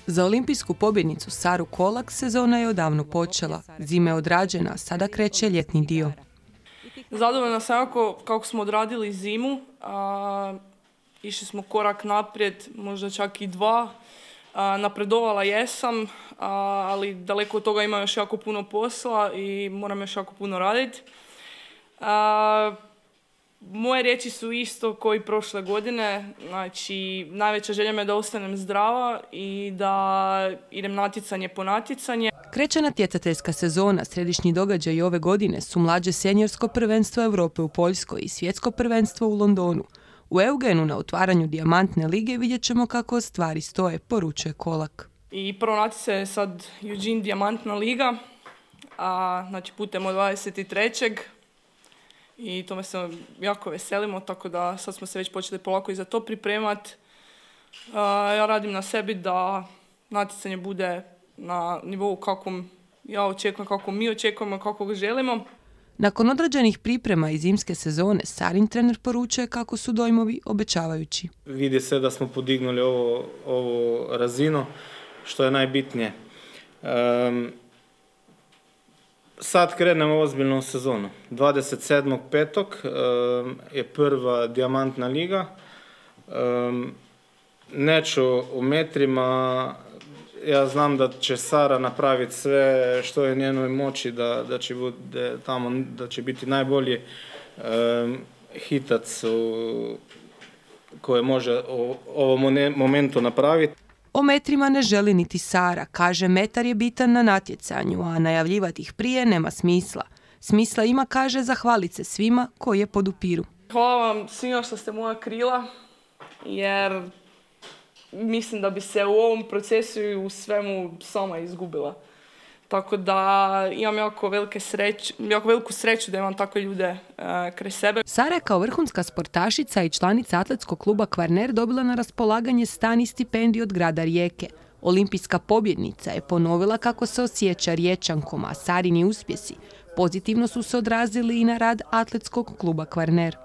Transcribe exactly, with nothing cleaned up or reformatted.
Za olimpijsku pobjednicu Saru Kolak sezona je odavno počela. Zima je odrađena, sada kreće ljetni dio. Zadovoljna sam jako kako smo odradili zimu. A, išli smo korak naprijed, možda čak i dva. A, napredovala jesam, a, ali daleko od toga ima još jako puno posla i moram još jako puno raditi. A, moje riječi su isto kao i prošle godine. Znači, najveća želja me je da ostanem zdrava i da idem natjecanje po natjecanje. Kreće natjecateljska sezona. Središnji događaj ove godine su mlađe senjorsko prvenstvo Europe u Poljskoj i svjetsko prvenstvo u Londonu. U Eugenu na otvaranju Dijamantne lige vidjet ćemo kako stvari stoje, poručuje Kolak. I prvo natjecanje je sad Eugene Dijamantna liga, a, znači putem od dvadeset trećeg I tome se jako veselimo, tako da sad smo se već počeli polako i za to pripremati. Ja radim na sebi da natjecanje bude na nivou kakvom ja očekujem, kako mi očekujemo, kako ga želimo. Nakon odrađenih priprema iz zimske sezone, Sarin trener poručuje kako su dojmovi obećavajući. Vidi se da smo podignuli ovo, ovo razinu, što je najbitnije. Um, sad krenemo ozbiljnu sezonu. dvadeset sedmog petog um, je prva Dijamantna liga. Um, neću u metrima. Ja znam da će Sara napraviti sve što je njenoj moći da, da, će, bude tamo, da će biti najbolji um, hitac u, koje može u ovom momentu napraviti. O metrima ne želi niti Sara. Kaže, metar je bitan na natjecanju, a najavljivati ih prije nema smisla. Smisla ima, kaže, zahvaliti se svima koji je podupiru. Hvala vam svima što ste moja krila, jer mislim da bi se u ovom procesu i u svemu sama izgubila. Tako da imam jako, velike sreć, jako veliku sreću da imam takve ljude e, kraj sebe. Sara je kao vrhunska sportašica i članica atletskog kluba Kvarner dobila na raspolaganje stan i stipendiju od grada Rijeke. Olimpijska pobjednica je ponovila kako se osjeća Riječankom, a Sarini uspjesi pozitivno su se odrazili i na rad atletskog kluba Kvarner.